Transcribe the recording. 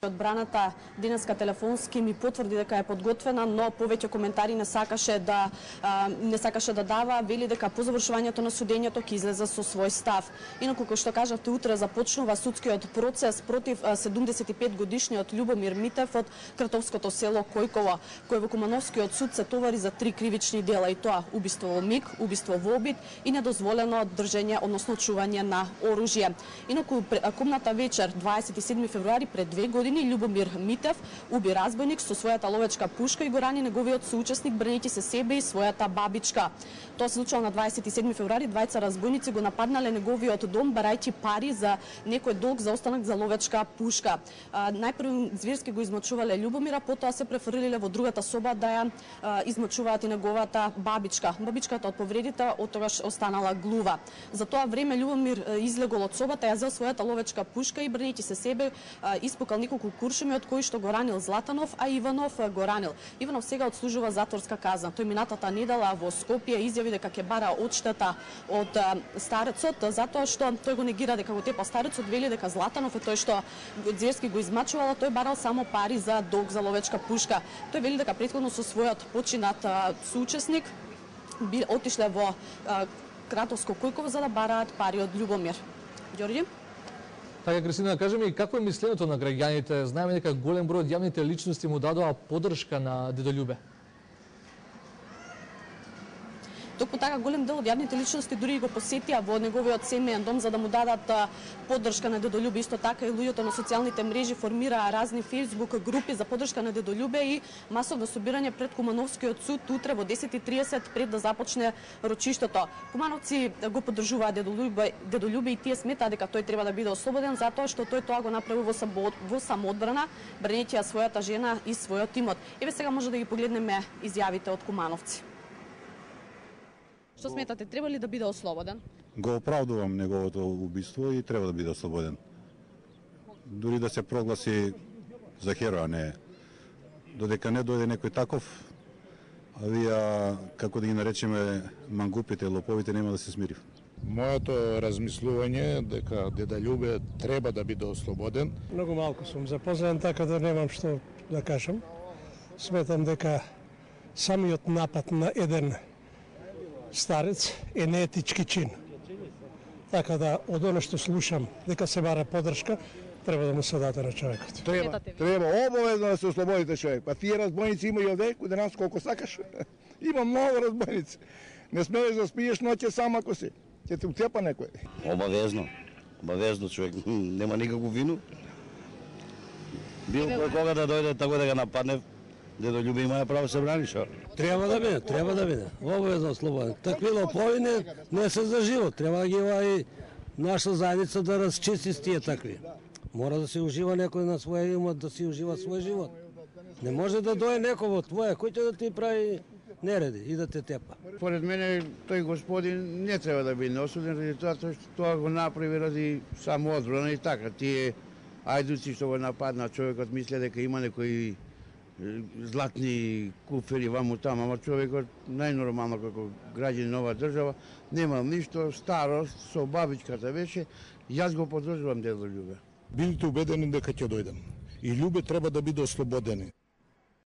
Одбраната денеска телефонски ми потврди дека е подготвена, но повеќе коментари не сакаше да дава, вели дека по завршувањето на судењето ќе излезе со свој став. Инаку, кој што кажавте, утре започнува судскиот процес против 75 годишниот Љубомир Митев од кратовското село Којково, кој во Кумановскиот суд се товари за 3 кривични дела, и тоа убиство во миг, убиство во обид и недозволено држење, односно чување на оружје. Инаку, комната вечер 27 февруари пред 2 години Љубомир Митев уби разбойник со својата ловечка пушка и го рани неговиот соучесник бранејќи се себе и својата бабичка. Тоа се случило на 27 февруари. Двајца разбойници го нападнале неговиот дом барајќи пари за некој долг за останок за ловечка пушка. Најпрво зверски го измачувале Љубомира, потоа се префрлиле во другата соба да ја измачуваат и неговата бабичка. Бабичката од повредите оттогаш останала глува. За тоа време Љубомир излегол од собата, ја зел својата ловечка пушка и бранејќи се себе испукал неколку куршуми од кои што го ранил Златанов, а Иванов го ранил. Иванов сега отслужува затворска казна. Тој минатата недела во Скопје изјави дека ќе бара одштета од старецот, затоа што тој го негира дека го тепа старецот, вели дека Златанов е тој што зверски го измачувал, тој барал само пари за долг за ловечка пушка. Тој вели дека претходно со својот починат соучесник отишле во Кратовско Којково за да бараат пари од Љубомир. Ѓорѓи? Така, Кристина, кажи ми, какво е мисленето на граѓаните? Знаеме дека голем број од јавните личности му дадоа поддршка на дедо Љубе. Токму така, голем дел од јавните личности дури го посетија во неговиот семеен дом за да му дадат поддршка на дедо Љубе. Исто така и луѓето на социјалните мрежи формираа разни Facebook групи за поддршка на дедо Љубе и масовно собирање пред Кумановскиот суд утре во 10:30 пред да започне рочиштето. Кумановци го поддржуваат дедо Љубе и тие сметаат дека тој треба да биде ослободен затоа што тој тоа го направи во самоодбрана, бранејќи својата жена и својот имот. Еве сега може да ги погледнеме изјавите од кумановци. Што сметате, треба ли да биде ослободен? Го оправдувам неговото убиство и треба да биде ослободен. Дури да се прогласи за хероа, не. Додека не дојде некој таков, како да ги наречеме мангупите, лоповите, нема да се смирив. Моето размислување е дека деда Љубе треба да биде ослободен. Многу малку сум запознат, така да немам што да кажам. Сметам дека самиот напад на еден старец е неетички чин. Така да, од оно што слушам дека се бара поддршка, треба да му се даде на човекот. Треба обавезно да се ослободите човек. Па тие разбойници има и овде, каде нас колку сакаш. Има многу разбойници. Не смееш да спиеш ноќе сам ако си. Ќе те уцепа некој. Обавезно човек, нема никакво вину. Било кога да дојде тако да го нападне, дедо Љубе има право се брани, шо? Треба да биде. Обавезно ослободен. Такви лопови не се за живот. Треба да ги и наша заедница да разчисти с тие такви. Мора да се ужива некој на свој имот, да си ужива свој живот. Не може да дојде некој во твоја куќа да ти прави нереди и да те тепа. Поред мене тој господин не треба да биде осуден заради тоа што тоа го направи ради самоодбрана и така. Тие ајдуци што го нападна човекот мисле дека има некои златни куфери ваму таму, ама човекот најнормално како граѓани на оваа држава нема ништо, старост со бабичката беше, јас го поддржувам дедо Љубе. Бидете убедени дека ќе дојдам. И Љубе треба да биде ослободени.